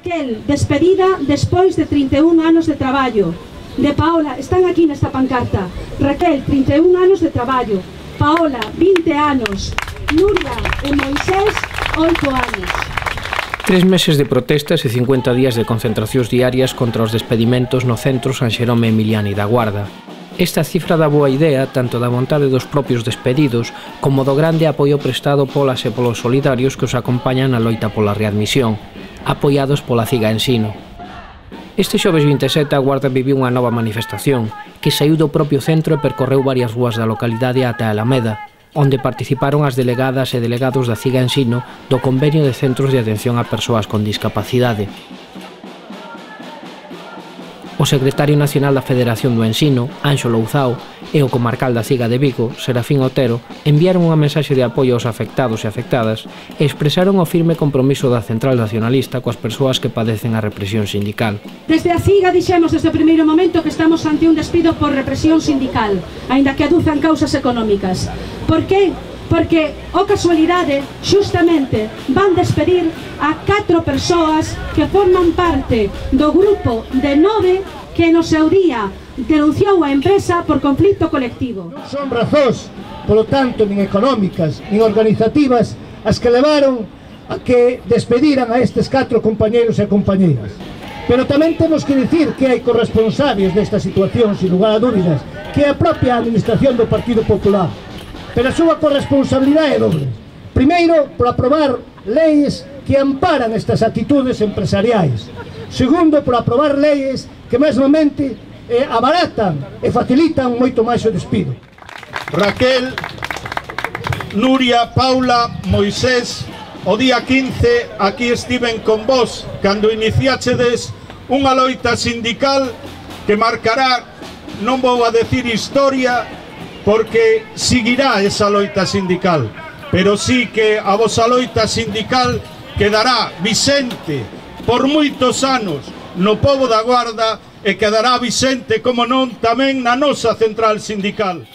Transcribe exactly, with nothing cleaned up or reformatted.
Raquel, despedida despois de trinta e un anos de traballo. De Paola, están aquí nesta pancarta. Raquel, trinta e un anos de traballo. Paola, vinte anos. Nuria e Moisés, oito anos. Tres meses de protestas e cincuenta días de concentracións diarias contra os despedimentos no centro San Xerome Emiliani da Guarda. Esta cifra dá boa idea tanto da vontade dos propios despedidos como do grande apoio prestado polas e polos solidarios que os acompañan na loita pola readmisión, apoiados pola Ciga Ensino. Este xoves vinte e sete a Guarda viviu unha nova manifestación que saíu do propio centro e percorreu varias rúas da localidade ata a Alameda, onde participaron as delegadas e delegados da Ciga Ensino do Convenio de Centros de Atención a Persoas con Discapacidade. O secretario nacional da Federación do Ensino, Anxo Louzao, e o comarcal da Ciga de Vigo, Serafín Otero, enviaron unha mensaxe de apoio aos afectados e afectadas e expresaron o firme compromiso da Central Nacionalista coas persoas que padecen a represión sindical. Desde a Ciga dixemos desde o primeiro momento que estamos ante un despido por represión sindical, aínda que aduzan causas económicas. Por que? Porque, o casualidade, xustamente, van despedir a catro persoas que forman parte do grupo de nove que no seu día denunciou a empresa por conflito colectivo. Non son razóns, polo tanto, nin económicas, nin organizativas, as que levaron a que despediran a estes catro compañeros e compañeras. Pero tamén temos que dicir que hai corresponsables desta situación, sin lugar a dúbidas, que é a propia administración do Partido Popular. Pero a súa corresponsabilidade é doble. Primeiro, por aprobar leis que amparan estas actitudes empresariais. Segundo, por aprobar leis que mesmamente eh, abaratan e facilitan moito máis o despido. Raquel, Nuria, Paula, Moisés, o día quince aquí estiven con vos cando iniciáchedes unha loita sindical que marcará, non vou a decir historia, porque seguirá esa loita sindical, pero sí que a vosa loita sindical quedará Vicente por moitos anos no pobo da Guarda e quedará Vicente, como non, tamén na nosa central sindical.